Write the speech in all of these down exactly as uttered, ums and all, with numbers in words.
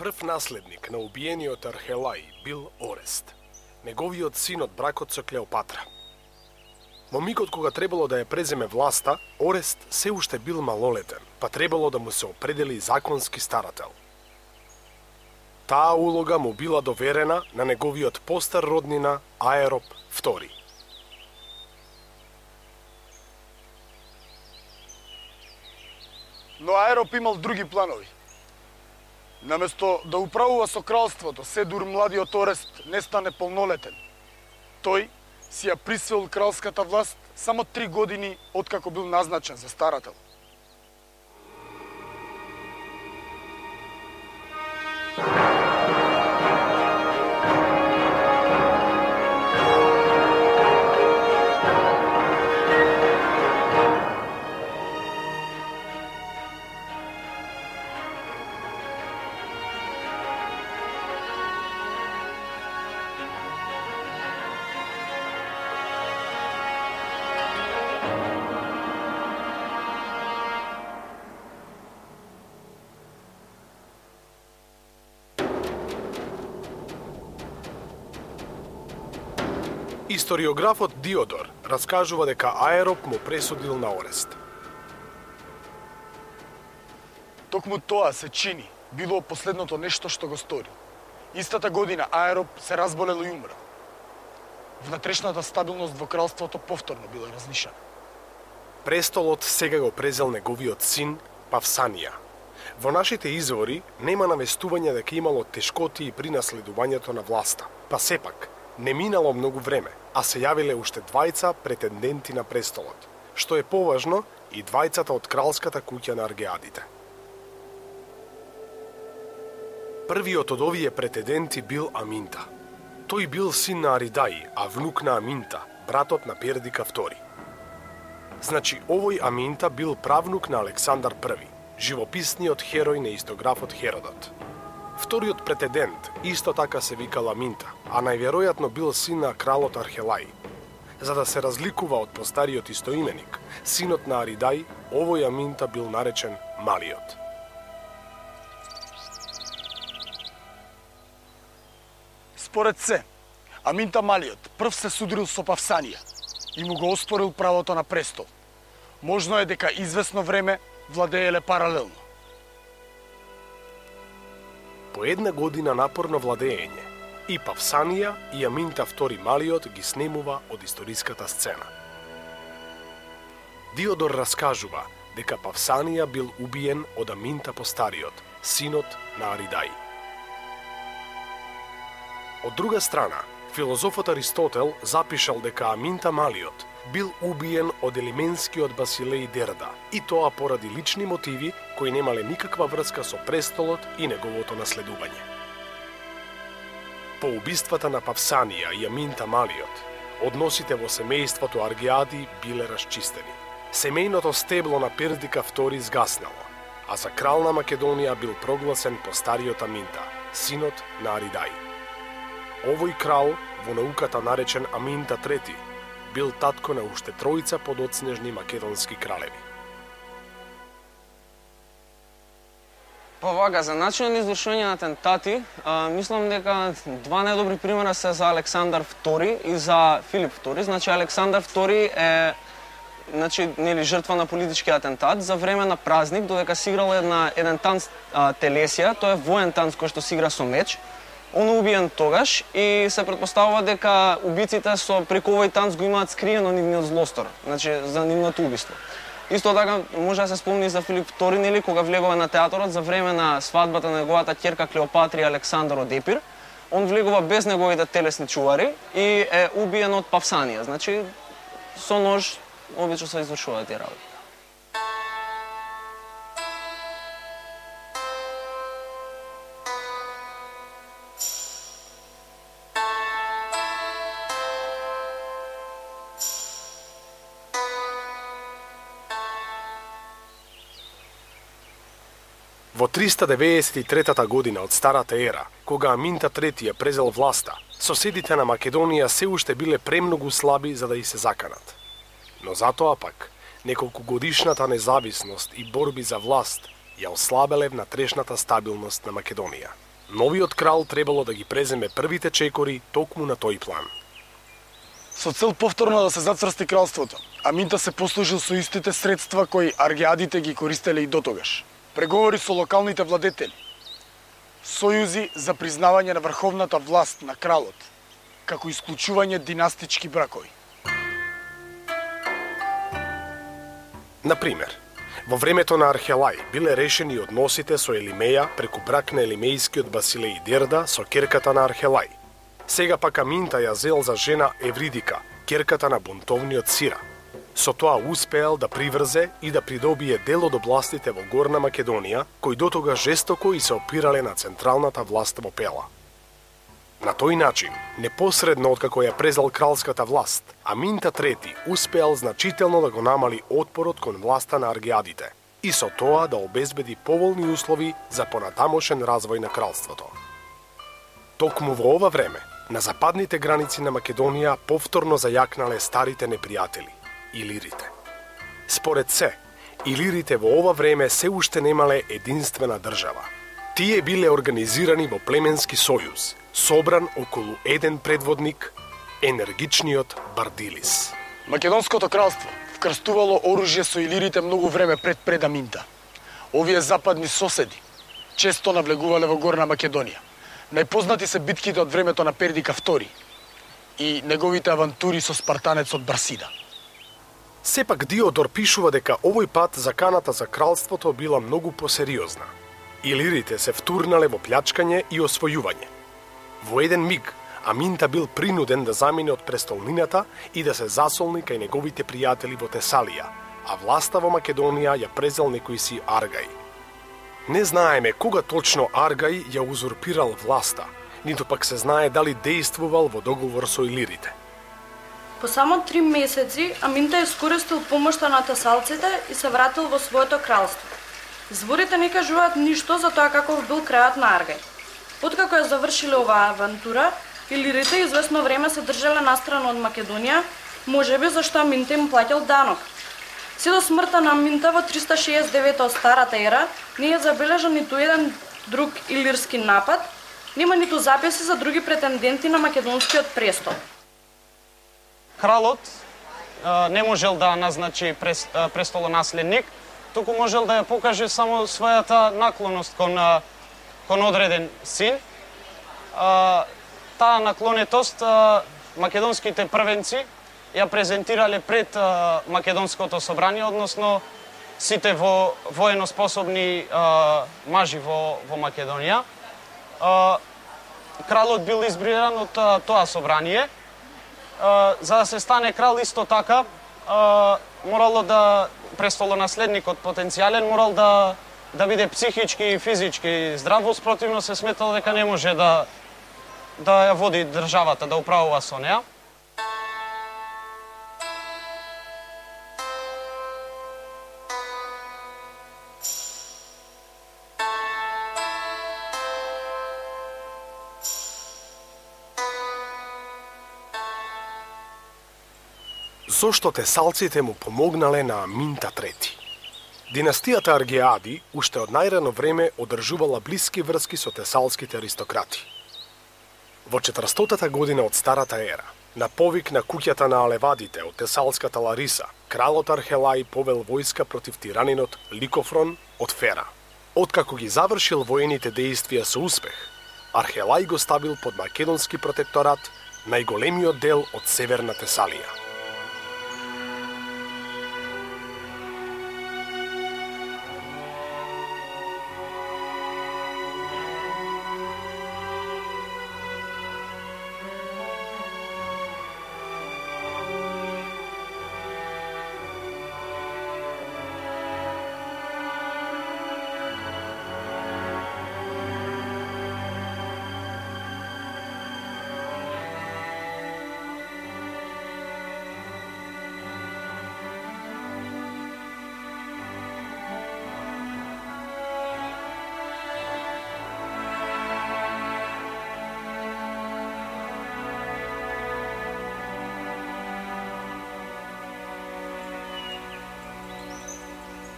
Прв наследник на убиениот Архелај бил Орест, неговиот син од бракот со Клеопатра. Во мигот кога требало да ја преземе власта, Орест се уште бил малолетен, па требало да му се определи законски старател. Таа улога му била доверена на неговиот постар роднина Аероп втори. Но Аероп имал други планови. Наместо да управува со кралството, се дур младиот Орест не стане полнолетен. Тој си ја присвоил кралската власт само три години откако бил назначен за старател. Историографот Диодор раскажува дека Аероп му пресудил на Орест. Токму тоа се чини било последното нешто што го стори. Истата година Аероп се разболел и умрел. Внатрешната стабилност во кралството повторно била разнишена. Престолот сега го презел неговиот син Павсанија. Во нашите извори нема навестување дека имало тешкоти при наследувањето на власта, па сепак не минало многу време, а се јавиле уште двајца претенденти на престолот, што е поважно и двајцата од кралската куќа на Аргеадите. Првиот од овие претенденти бил Аминта. Тој бил син на Аридај, а внук на Аминта, братот на Пердика втори. Значи, овој Аминта бил правнук на Александар први, живописниот херој на истографот Херодот. Вториот претендент исто така се викал Аминта, а најверојатно бил син на кралот Архелај. За да се разликува од постариот истоименик, синот на Аридај, овој Аминта бил наречен Малиот. Според се, Аминта Малиот прв се судрил со Павсанија и му го оспорил правото на престол. Можно е дека извесно време владееле паралелно. По една година напорно владење, и Павсанија и Аминта втори Малиот ги снемува од историската сцена. Диодор раскажува дека Павсанија бил убиен од Аминта постариот, синот на Аридај. Од друга страна, филозофот Аристотел запишал дека Аминта Малиот бил убиен од елименскиот Басилеј Дерда, и тоа поради лични мотиви кои немале никаква врска со престолот и неговото наследување. По убиствата на Павсанија и Аминта Малиот, односите во семејството Аргеади биле расчистени. Семејното стебло на Пердика втори згаснало, а за крал на Македонија бил прогласен постариот Аминта, синот на Аридај. Овој крал, во науката наречен Аминта трети, бил татко на уште тројца подоцнежни македонски кралеви. Па вака, за начинот на извршување на атентати, а, мислам дека два најдобри примера се за Александар втори и за Филип втори. Значи, Александар втори е значи, нели, жртва на политички атентат за време на празник, додека се играл една, еден танц а, Телесија, тоа е воен танц кој што се игра со меч. Он убиен тогаш и се претпоставува дека убиците со преку овој танц го имаат скриено нивниот злостор, значи за нивното убиство. Исто така може да се спомни за Филип втори, нели, кога влегува на театорот за време на свадбата на неговата ќерка Клеопатра и Александар од Епир. Он влегува без неговите телесни чувари и е убиен од Павсанија. Значи со нож обично се извршуваат тие работи. Во триста деветдесет и трета година од Старата ера, кога Аминта трети ја презел власта, соседите на Македонија се уште биле премногу слаби за да и се заканат. Но затоа пак, неколку годишната независност и борби за власт ја ослабеле внатрешната стабилност на Македонија. Новиот крал требало да ги преземе првите чекори токму на тој план. Со цел повторно да се зацрсти кралството, Аминта се послужил со истите средства кои аргеадите ги користеле и дотогаш. Преговори со локалните владетели, сојузи за признавање на врховната власт на кралот, како исклучување династички бракови. Например, во времето на Архелај биле решени односите со Елимеја преку брак на елимејскиот Басилеј Дерда со керката на Архелај. Сега пак Аминта ја зел за жена Евридика, керката на бунтовниот Сира. Со тоа успеал да приврзе и да придобие дел од областите во Горна Македонија, кои дотога жестоко и се опирале на централната власт во Пела. На тој начин, непосредно откако ја презел кралската власт, Аминта трети успеал значително да го намали отпорот кон власта на аргеадите и со тоа да обезбеди поволни услови за понатамошен развој на кралството. Токму во ова време, на западните граници на Македонија повторно зајакнале старите непријатели – илирите. Според се, илирите во ова време се уште немале единствена држава. Тие биле организирани во племенски сојуз, собран околу еден предводник, енергичниот Бардилис. Македонското кралство вкрстувало оружје со илирите многу време пред пред Аминта. Овие западни соседи често навлегувале во Горна Македонија. Најпознати се битките од времето на Пердика втори и неговите авантури со спартанецот Барсида. Сепак Диодор пишува дека овој пат заканата за кралството била многу посериозна. Илирите се втурнале во плячкање и освојување. Во еден миг, Аминта бил принуден да замине од престолнината и да се засолни кај неговите пријатели во Тесалија, а власта во Македонија ја презел некој си Аргај. Не знаеме кога точно Аргај ја узурпирал власта, ниту пак се знае дали действувал во договор со илирите. По само три месеци Аминта искористил помошта на тесалците и се вратил во своето кралство. Зборите не кажуваат ништо за тоа каков бил крајот на Аргај. Откако ја завршиле оваа авантура, илирите известно време се држале настрана од Македонија, можеби зашто Аминта им плаќал данок. Се до смртта на Аминта во триста шеесет и девета од старата ера не е забележан ниту еден друг илирски напад, нема ниту записи за други претенденти на македонскиот престол. Кралот а, не можел да назначи прес, а, престолонаследник, туку можел да ја покаже само својата наклоност кон, а, кон одреден син. А, таа наклонетост а, македонските првенци ја презентирале пред а, Македонското собрание, односно сите во военоспособни а, мажи во, во Македонија. А, кралот бил избран од а, тоа собрание. А, за да се стане крал исто така, а, морало да престолонаследникот потенцијален морал да да биде психички и физички здрав, спротивно се сметало дека не може да да ја води државата, да управува со неа. Зошто тесалците му помогнале на Аминта трети? Династијата Аргеади уште од најрано време одржувала блиски врски со тесалските аристократи. Во четиристотата година од старата ера, на повик на куќата на Алевадите од тесалската Лариса, кралот Архелај повел војска против тиранинот Ликофрон од Фера. Откако ги завршил воените дејствија со успех, Архелај го ставил под македонски протекторат најголемиот дел од северна Тесалија.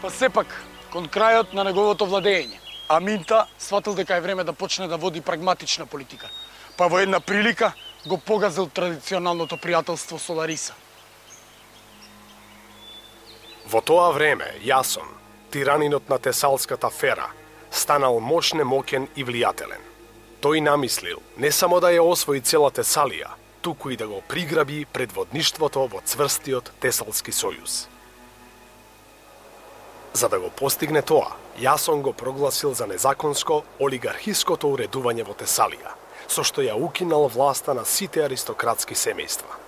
Па сепак, кон крајот на неговото владење, Аминта сватил дека е време да почне да води прагматична политика, па во една прилика го погазил традиционалното пријателство со Лариса. Во тоа време, Јасон, тиранинот на Тесалската фера, станал мошне, мокен и влијателен. Тој намислил не само да ја освои цела Тесалија, туку и да го приграби предводништвото во цврстиот Тесалски сојуз. За да го постигне тоа, Јасон го прогласил за незаконско олигархиското уредување во Тесалија, со што ја укинал власта на сите аристократски семејства.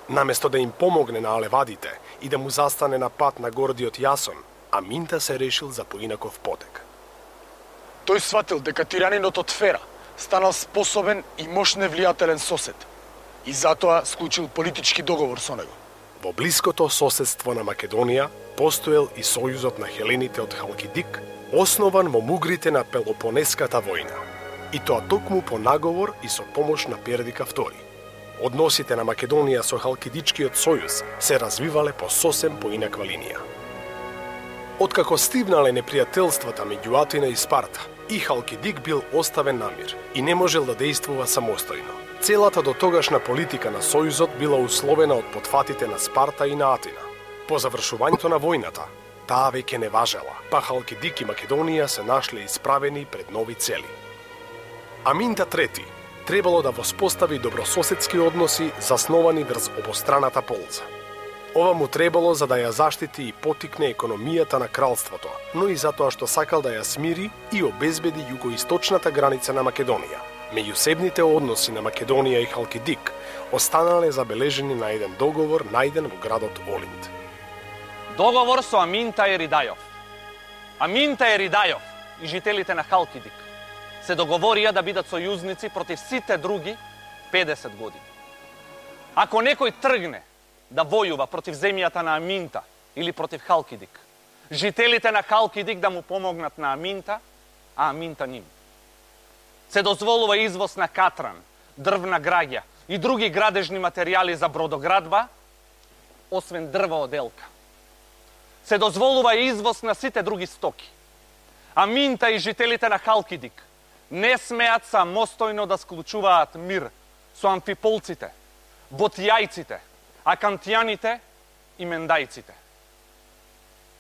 Наместо да им помогне на алевадите и да му застане на пат на гордиот Јасон, Аминта се решил за поинаков потек. Тој сватил дека тиранинот од Фера станал способен и мошне влијателен сосед и затоа склучил политички договор со него. Во блиското соседство на Македонија постоел и сојузот на хелените од Халкидик, основан во мугрите на Пелопонеската војна, и тоа токму по наговор и со помош на Пердика втори. Односите на Македонија со Халкидичкиот сојуз се развивале по сосем поинаква линија. Откако стивнале непријателствата меѓу Атина и Спарта, и Халкидик бил оставен на мир и не можел да действува самостојно. Целата дотогашна политика на сојузот била условена од потфатите на Спарта и на Атина. По завршувањето на војната, таа веќе не важела, па Халкидик и Македонија се нашле исправени пред нови цели. Аминта трети требало да воспостави добрососедски односи засновани врз обостраната полза. Ова му требало за да ја заштити и потикне економијата на кралството, но и затоа што сакал да ја смири и обезбеди југоисточната граница на Македонија. Меѓусебните односи на Македонија и Халкидик останале забележени на еден договор најден во градот Олинд. Договор со Аминта Еридајов. Аминта Еридајов и жителите на Халкидик се договорија да бидат сојузници против сите други педесет години. Ако некој тргне да војува против земјата на Аминта или против Халкидик, жителите на Халкидик да му помогнат на Аминта, а Аминта ним. Се дозволува извоз на катран, дрвна граѓа и други градежни материјали за бродоградба, освен дрва оделка. Се дозволува извоз на сите други стоки. Аминта и жителите на Халкидик не смеат самостојно да склучуваат мир со амфиполците, ботјајците, акантијаните и мендајците.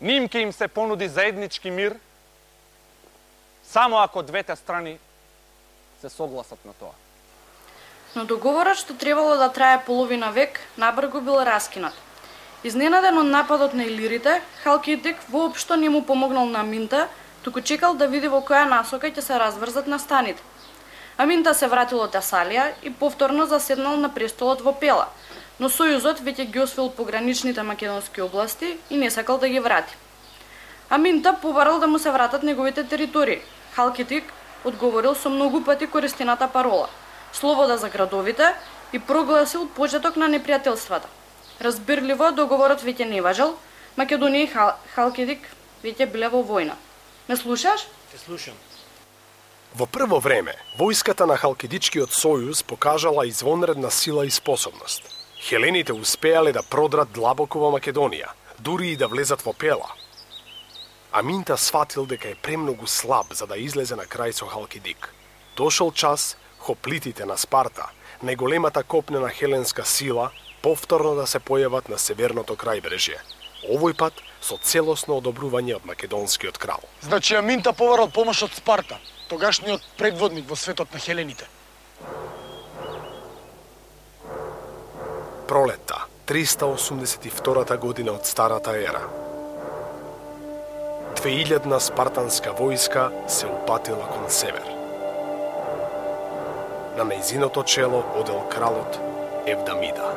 Ним ке им се понуди заеднички мир, само ако двете страни се согласат на тоа. Но договорот што требало да трае половина век, набрзо бил раскинат. Изненаден од нападот на илирите, Халкидик воопшто не му помогнал на Аминта, туку чекал да види во која насока ќе се разврзат настаните. Аминта се вратил од Тесалија и повторно заседнал на престолот во Пела, но сојузот веќе ги освоил пограничните македонски области и не сакал да ги врати. Аминта побарал да му се вратат неговите територии. Халкидик одговорил со многу пати користената парола – слобода за градовите, и прогласил почеток на непријателствата. Разбирливо, договорот веќе не важел, Македонија и Хал... Халкидик веќе биле во војна. Ме слушаш? Те слушам. Во прво време, војската на Халкидичкиот сојуз покажала извонредна сила и способност. Хелените успеале да продрат длабоко во Македонија, дури и да влезат во Пела. Аминта сватил дека е премногу слаб за да излезе на крај со Халкидик. Дошол час хоплитите на Спарта, најголемата копнена хеленска сила, повторно да се појават на северното крајбрежје. Овој пат со целосно одобрување од македонскиот крал. Значи Аминта побарал помош од Спарта, тогашниот предводник во светот на хелените. Пролетта, триста осумдесет и втората година од Старата ера. двеилјадна спартанска војска се упатила кон север. На нејзиното чело одел кралот Евдамида.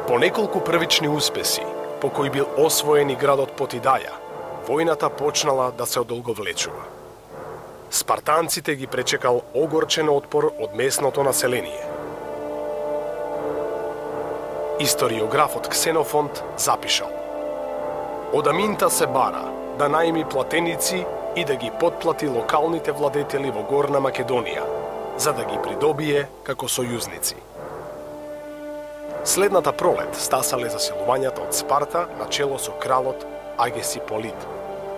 По неколку првични успеси, по кои бил освоен и градот Потидаја, војната почнала да се одолговлечува. Спартанците ги пречекал огорчен отпор од местното население. Историографот Ксенофонт запишал: од Аминта се бара да најми платеници и да ги потплати локалните владетели во Горна Македонија, за да ги придобие како сојузници. Следната пролет стасале засилувањата од Спарта на чело со кралот Агесиполит.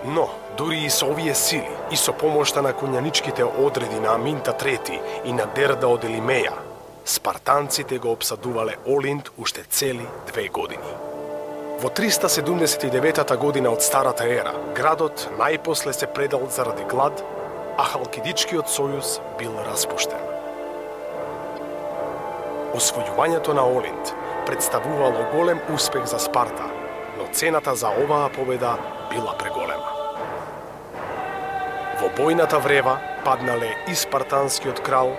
Но, дури и со овие сили, и со помошта на кунјаничките одреди на Аминта трети и на Дерда од Елимеја, спартанците го обсадувале Олинт уште цели две години. Во триста седумдесет и деветата година од Старата ера, градот најпосле се предал заради глад, а Халкидичкиот сојуз бил распуштен. Освојувањето на Олинт представувало голем успех за Спарта, но цената за оваа победа била преголема. Во бојната врева паднале и спартанскиот крал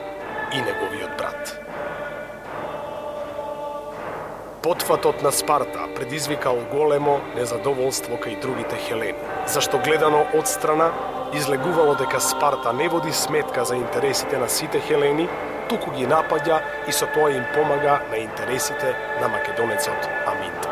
и неговиот брат. Потфатот на Спарта предизвикал големо незадоволство кај другите хелени, зашто гледано од страна излегувало дека Спарта не води сметка за интересите на сите хелени, туку ги напаѓа и со тоа им помага на интересите на македонецот Аминта.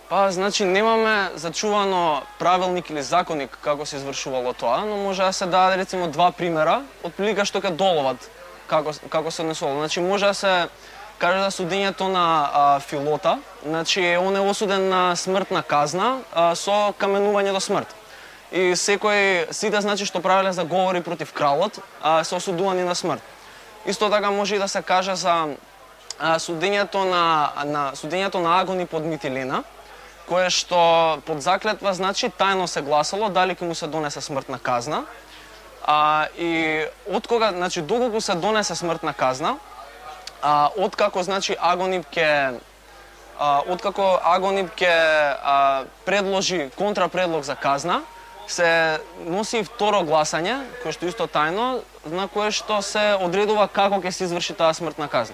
Па, значи, немаме зачувано правилник или законник како се извршувало тоа, но може да се даде, рецимо, два примера, од прилика што ке доловат како, како се однесувало. Значи, може да се каже за судењето на а, Филота, значи, он е осуден на смртна казна а, со каменување до смрт. И секој, сите, значи, што правеле заговори против кралот, а, се осудувани на смрт. Исто така може и да се каже за а, судењето на, на, судењето на Агони под Митилена, кое што под заклетва, значи, тајно се гласало дали ќе му се донесе смртна казна. А, и од кога, значи, доколку се донесе смртна казна, а, откако, значи, Агонип ќе а, откако Агонип ќе а, предложи контрапредлог за казна, се носи и второ гласање, кое што исто тајно, на кое што се одредува како ќе се изврши таа смртна казна.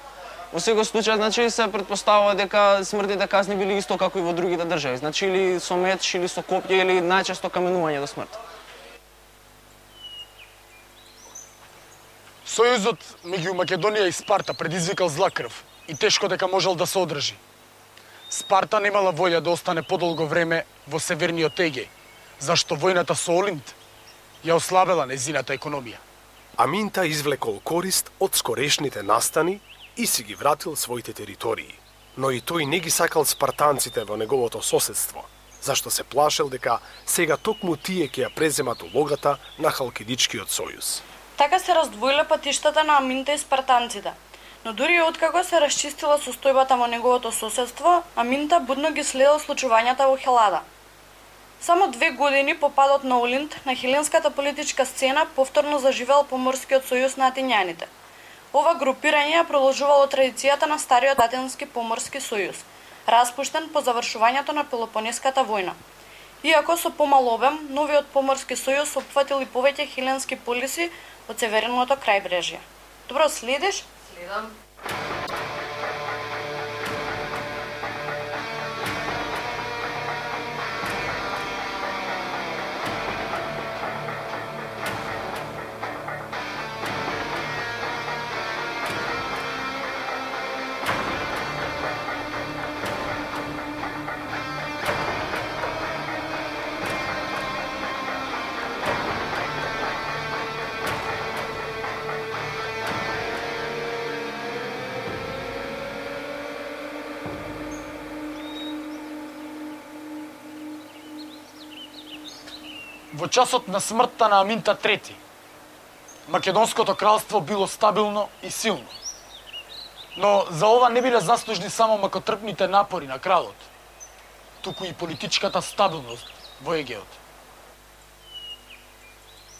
Во секој случај, значи, се претпоставува дека смртните казни били исто како и во другите држави, значи или со меч, или со копје, или најчесто каменување до смрт. Сојузот меѓу Македонија и Спарта предизвикал зла крв и тешко дека можел да се одржи. Спарта немала волја да остане подолго време во северниот Егеј, зашто војната со Олинт ја ослабела незината економија. Аминта извлекол корист од скорешните настани и си ги вратил своите територии. Но и тој не ги сакал спартанците во неговото соседство, зашто се плашел дека сега токму тие ќе ја преземат улогата на Халкидичкиот сојуз. Така се раздвоиле патиштата на Аминта и спартанците. Но дури откако се расчистила состојбата во неговото соседство, Аминта будно ги следел случувањата во Хелада. Само две години по падот на Олинт, на хеленската политичка сцена повторно заживел Поморскиот сојуз на атињаните. Ова групирање ја продолжувало традицијата на стариот Атински поморски сојуз, распуштен по завршувањето на Пелопонеската војна. Иако со помал обем, новиот поморски сојуз опфатил и повеќе хеленски полиси од северното крајбрежје. Добро, следиш? Следам. Во часот на смртта на Аминта трети, Македонското кралство било стабилно и силно. Но за ова не биле заслужни само макотрпните напори на кралот, туку и политичката стабилност во Егеот.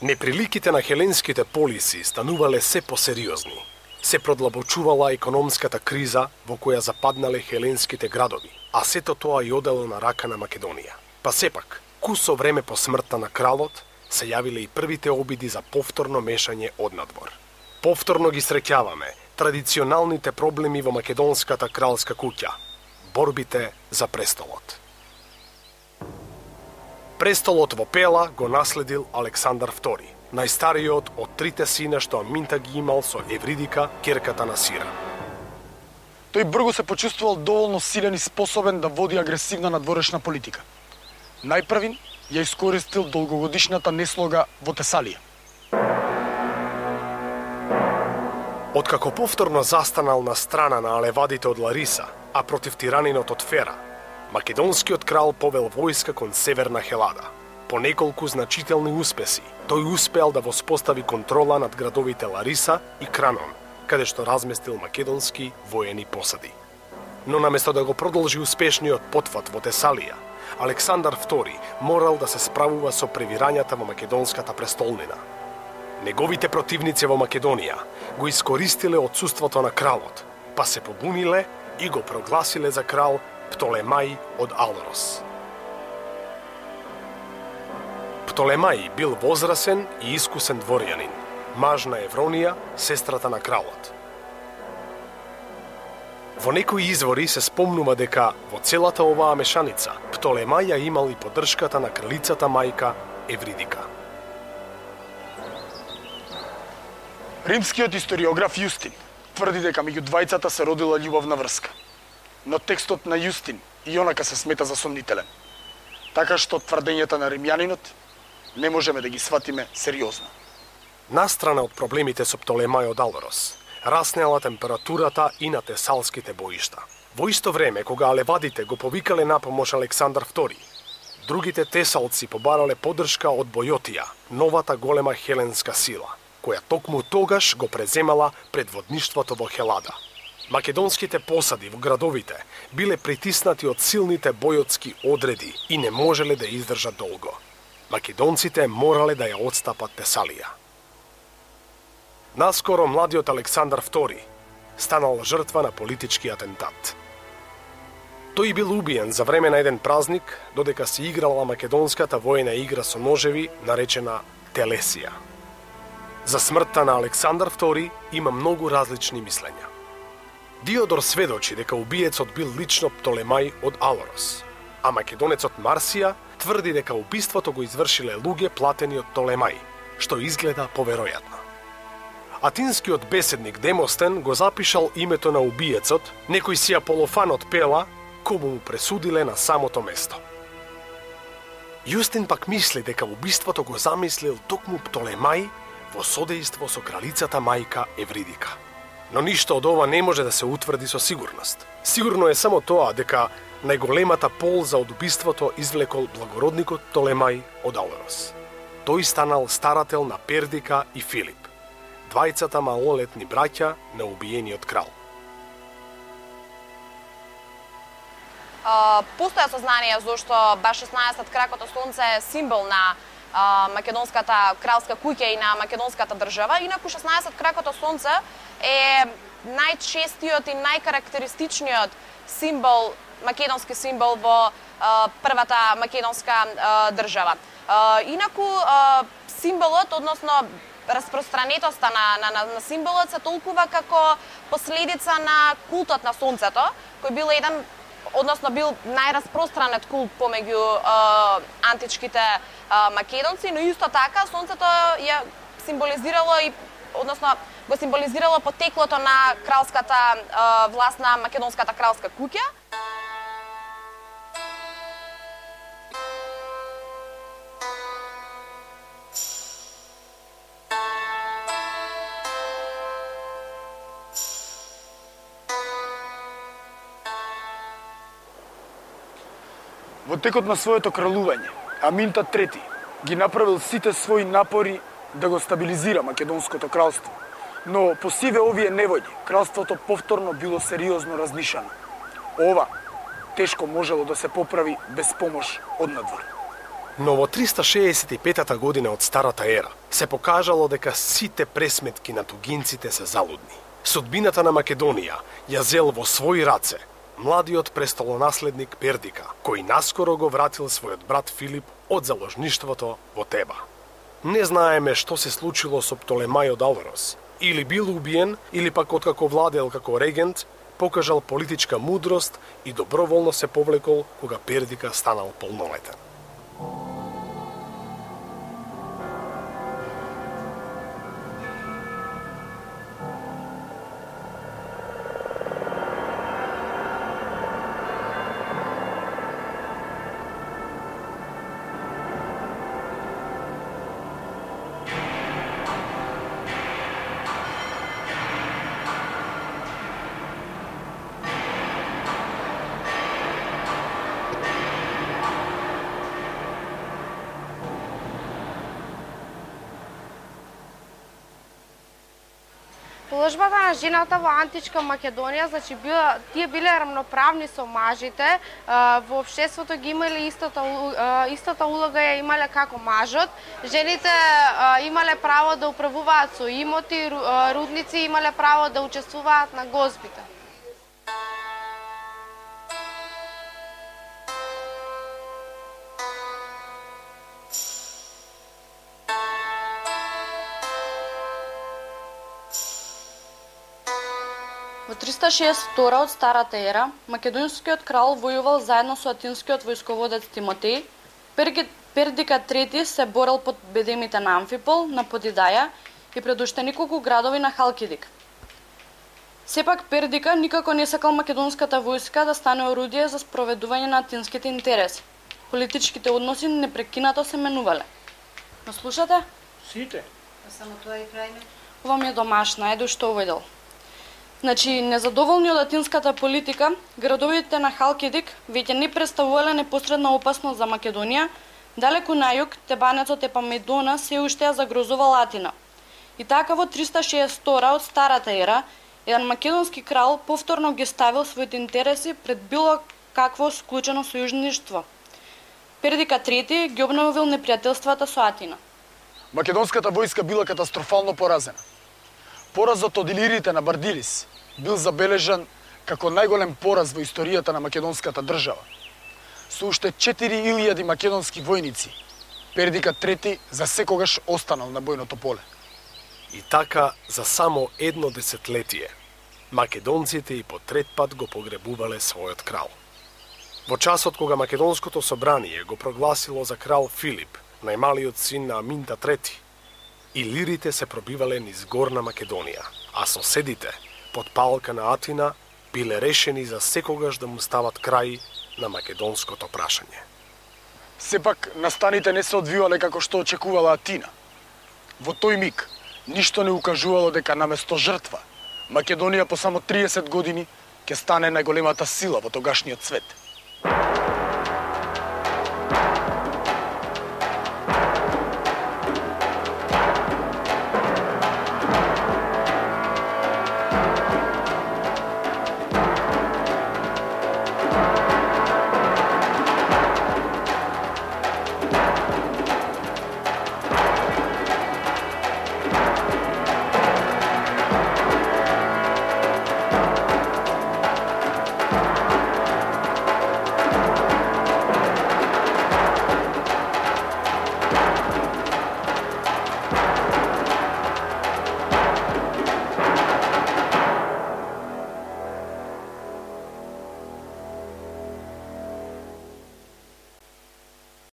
Неприликите на хеленските полиси станувале се посериозни. Се продлабочувала економската криза во која западнале хеленските градови, а сето тоа и одело на рака на Македонија. Па сепак, кусо време по смртта на кралот, се јавиле и првите обиди за повторно мешање од надвор. Повторно ги среќаваме традиционалните проблеми во македонската кралска куќа, борбите за престолот. Престолот во Пела го наследил Александар втори, најстариот од трите сина што Аминта ги имал со Евридика, ќерката на Сира. Тој брзо се почувствувал доволно силен и способен да води агресивна надворешна политика. Најпрвин ја искористил долгогодишната неслога во Тесалија. Откако повторно застанал на страна на алевадите од Лариса, а против тиранинот од Фера, Македонскиот крал повел војска кон северна Хелада. По неколку значителни успеси, тој успеал да воспостави контрола над градовите Лариса и Кранон, каде што разместил македонски воени посади. Но наместо да го продолжи успешниот потфат во Тесалија, Александар Втори морал да се справува со превирањата во македонската престолнина. Неговите противници во Македонија го искористиле отсуството на кралот, па се побуниле и го прогласиле за крал Птолемај од Алорос. Птолемај бил возрасен и искусен дворјанин, маж на Евронија, сестрата на кралот. Во некои извори се спомнува дека во целата оваа мешаница Птолемај ја имал и поддршката на кралицата мајка Евридика. Римскиот историограф Јустин тврди дека меѓу двајцата се родила љубовна врска, но текстот на Јустин и онака се смета за сомнителен, така што тврдењата на римјанинот не можеме да ги сватиме сериозно. Настрана од проблемите со Птолемај од Алорос, раснела температурата и на тесалските боишта. Во исто време, кога алевадите го повикале на помош Александар Втори, другите тесалци побарале поддршка од Бојотија, новата голема хеленска сила, која токму тогаш го преземала предводништвото во Хелада. Македонските посади во градовите биле притиснати од силните бојотски одреди и не можеле да издржат долго. Македонците морале да ја отстапат Тесалија. Наскоро младиот Александар Втори станал жртва на политички атентат. Тој бил убиен за време на еден празник, додека се играла македонската воена игра со ножеви, наречена Телесија. За смртта на Александар Втори има многу различни мислења. Диодор сведочи дека убиецот бил лично Птолемај од Алорос, а македонецот Марсија тврди дека убиството го извршиле луѓе платени од Птолемај, што изгледа поверојатно. Атинскиот беседник Демостен го запишал името на убиецот, некој си Аполофан од Пела, кому му пресудиле на самото место. Јустин пак мисли дека убиството го замислил токму Птолемај во содејство со кралицата мајка Евридика. Но ништо од ова не може да се утврди со сигурност. Сигурно е само тоа дека најголемата полза од убиството извлекол благородникот Птолемај од Алорос. Тој станал старател на Пердика и Филип, двајцата малолетни браќа на убиениот крал. Uh, постоја сознание зашто баш шеснаесет кракото сонце е символ на uh, македонската кралска куќа и на македонската држава. Инаку шеснаесет кракото сонце е најчестиот и најкарактеристичниот символ, македонски символ во uh, првата македонска uh, држава. Uh, инаку uh, символот, односно распространетоста на, на, на, на символот се толкува како последица на култот на сонцето, кој бил еден односно бил најраспространет култ помеѓу uh, античките uh, македонци, но исто така сонцето ја символизирало и односно го символизирало потеклото на кралската uh, власт на македонската кралска куќа. Во текот на своето кралување, Аминта трети ги направил сите своји напори да го стабилизира македонското кралство, но по сиве овие невојди, кралството повторно било сериозно разнишано. Ова тешко можело да се поправи без помош од надвор. Но во триста шеесет и петата година од Старата ера се покажало дека сите пресметки на тугинците се залудни. Судбината на Македонија ја зел во своји раце младиот престолонаследник Пердика, кој наскоро го вратил својот брат Филип од заложништвото во Теба. Не знаеме што се случило со Птолемај од Алорос. Или бил убиен, или пак откако владел како регент, покажал политичка мудрост и доброволно се повлекол кога Пердика станал полнолетен. Положбата на жената во античка Македонија, значи била, тие биле рамноправни со мажите, во општеството ги имале истата истата улога ја имале како мажот. Жените имале право да управуваат со имоти, рудници, имале право да учествуваат на гозбите. Во триста шеесет и втора од Старата ера, македонскиот крал војувал заедно со атинскиот војсководец Тимотеј. Пердика трети се борел под бедемите на Амфипол, на Подидаја и пред уште неколку градови на Халкидик. Сепак Пердика никако не сакал македонската војска да стане орудие за спроведување на атинските интереси. Политичките односи непрекинато се менувале. Ме слушате? Сите. Само тоа и крајме. Ова ми е домашна, еду што овој дел. Значи, незадоволни од атинската политика, градовите на Халкидик веќе не представувале непосредна опасност за Македонија. Далеку на југ, Тебанецот Епамедона се уште ја загрозувал Атина. И така во триста шеесет и втора од Старата ера, еден македонски крал повторно ги ставил своите интереси пред било какво склучено сојужништво. Пердика трети ги обновил непријателствата со Атина. Македонската војска била катастрофално поразена. Поразот од илирите на Бардилис бил забележан како најголем пораз во историјата на македонската држава. Со уште четири илјади македонски војници, Пердика трети за секогаш останал на бојното поле. И така, за само едно десетлетие, македонците и по трет пат го погребувале својот крал. Во часот кога македонското собрание го прогласило за крал Филип, најмалиот син на Аминта трети, илирите се пробивале низ Горна Македонија, а соседите, под палка на Атина, биле решени за секогаш да му стават крај на македонското прашање. Сепак, настаните не се одвивале како што очекувала Атина. Во тој миг, ништо не укажувало дека наместо жртва, Македонија по само триесет години ќе стане најголемата сила во тогашниот свет.